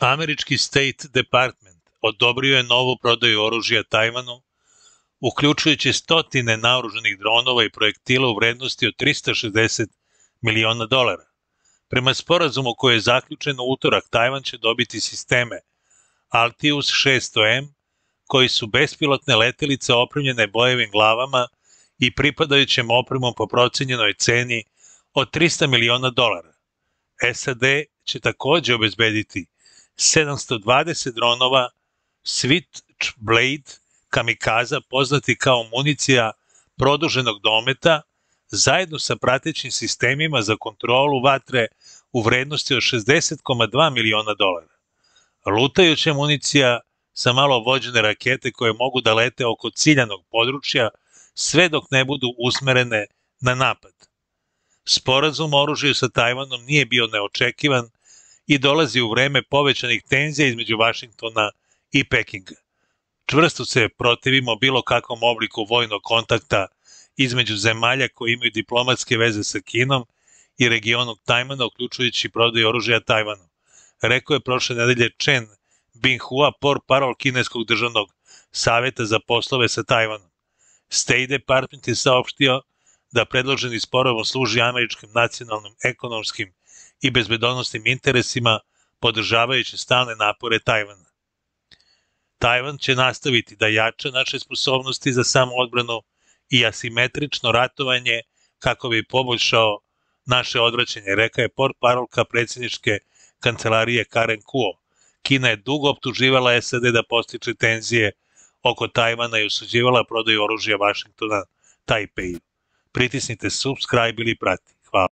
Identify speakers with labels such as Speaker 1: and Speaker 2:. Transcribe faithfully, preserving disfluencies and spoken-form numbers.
Speaker 1: Američki State Department odobrio je novu prodaju oružja Tajvanu, uključujući stotine naoružanih dronova i projektila u vrednosti od trista šezdeset miliona dolara. Prema sporazumu koji je zaključen u utorak, Tajvan će dobiti sisteme Altius šesto M, koji su bespilotne letelice opremljene bojevim glavama i pripadajućem opremom po procenjenoj ceni od trista miliona dolara. S A D će takođe obezbediti sedamsto dvadeset dronova Switchblade kamikaza, poznati kao municija produženog dometa, zajedno sa pratećim sistemima za kontrolu vatre u vrednosti od šezdeset zarez dva miliona dolara. Lutajuća municija sa malo vođene rakete koje mogu da lete oko ciljanog područja sve dok ne budu usmerene na napad. Sporazum o oružju sa Tajvanom nije bio neočekivan i dolazi u vreme povećanih tenzija između Vašingtona i Pekinga. Čvrsto se protivimo bilo kakvom obliku vojnog kontakta između zemalja koje imaju diplomatske veze sa Kinom i regionom Tajvana, uključujući prodaju oružja Tajvanu, rekao je prošle nedelje Chen Binghua, portparol kineskog državnog saveta za poslove sa Tajvanom. State Department je saopštio da predloženi sporazum služi američkim nacionalnim, ekonomskim i bezbednosnim interesima, podržavajući stalne napore Tajvana. Tajvan će nastaviti da jača naše sposobnosti za samoodbranu i asimetrično ratovanje kako bi poboljšao naše odvraćanje, reka je portparolka predsjedničke kancelarije Karen Kuo. Kina je dugo optuživala S A D da podstiče tenzije oko Tajvana i osuđivala prodaju oružja Vašingtona Tajpeju. Pritisnite subscribe ili prati. Hvala.